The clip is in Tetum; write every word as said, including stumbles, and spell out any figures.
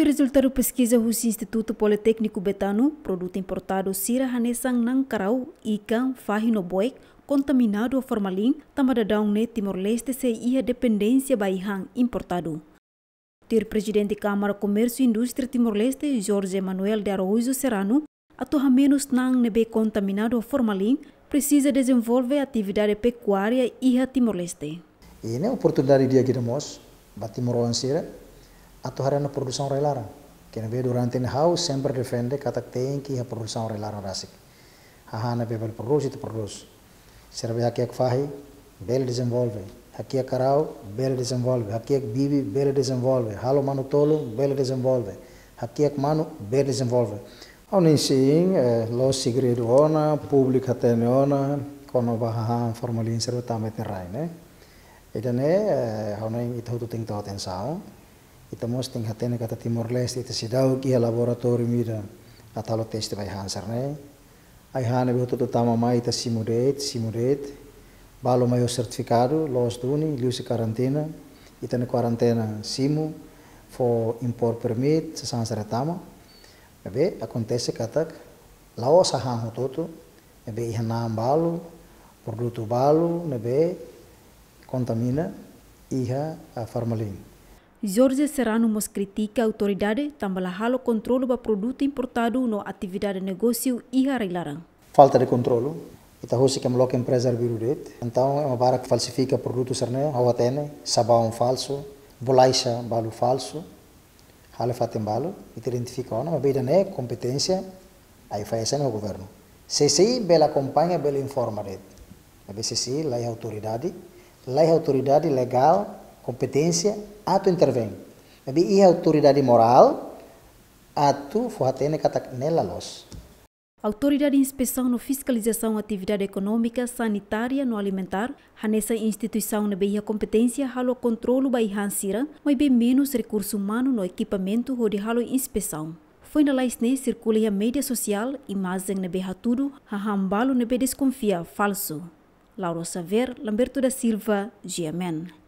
Rezultadu peskiza husi Institutu Politékniku Betano, produtu importadu sira hanesan na'an karau, ikan, fahi no boek kontaminadu ho formalin, tanba daudaun ne'e Timor-Leste sei iha dependénsia ba ai-han importadu. Tuir Prezidente Kámara Komérsiu Indústria Timor-Leste, Jorge Manuel de Araújo Serrano, atu hamenus na'an ne'ebé kontaminadu ho formalin, presiza dezenvolve atividade pekuária iha Timor-Leste. I ne'e oportunidade di'ak ida mós ba timoroan sira atu haree ona produsaun rai-laran. Ke ne'ebé durante ne'e ha'u sempre defende katak tenke iha produsaun rai-laran rasik. Hahán ne'ebé bele prodús, ita prodús. Sira be hakiak fahi, bele dezenvolve. Hakiak karau, bele dezenvolve. Hakiak bibi, bele dezenvolve. Halo manu-tolun, bele dezenvolve. Hakiak manu, bele dezenvolve. Ha'u-nia sin, eh, la'ós segredu ona, públiku hatene ona, kona-ba hahán formalin sira tama iha rai ne'e. Ida-ne'e, eh, ha'u hanoin ita hotu tenke tau atensaun. Ita mós tenke hatene katak Timor-Leste, ita seidauk iha laboratóriu ida atu halo teste ba ai-han sira-ne'e. Ai-han ne'ebé hotu-hotu tama mai ita simu de'it, simu de'it. Balu mai ho sertifikadu, loos duni, liuhusi karantina. Ita-nia kuarentena simu, fó import permit, sasán sira tama. Ne'ebé akontese katak la'ós hahán hotu-hotu, ne'ebé iha na'an balu, produtu balu, ne'ebé kontamina iha, ah, formalin. Jorge Serrano mós kritika autoridade tanba la halo kontrolu ba produtu importadu no atividade negósiu iha rai-laran. Falta de kontrolu. Ita husik ema loke empreza arbiru de'it. Entaun, ema barak falsifika produtu sira-ne'e, ha'u hatene, sabaun falsu, bolaxa balu falsu, halo iha fatin balu, ita identifika ona, maibé ida-ne'e kompeténsia AIFAESA no governu. CCI bele akompaña, bele informa de'it. Maibé CCI laiha autoridade, laiha autoridade legál, kompeténsia atu intervein. Maibé iha autoridade morál atu fó hatene katak ne'e la loos. Autoridade Inspesaun no Fiskalizasaun Atividade Ekonómika, Sanitária no Alimentár, hanesan instituisaun ne'ebé iha kompeténsia halo kontrolu ba ai-han sira, maibé menus rekursu umanu no ekipamentu hodi halo inspesaun. Foin lalais ne'e sirkula iha média sosiál imajen ne'ebé hatudu hahán balu ne'ebé deskonfia falsu. Laura Xavier, Lamberto da Silva, G M N.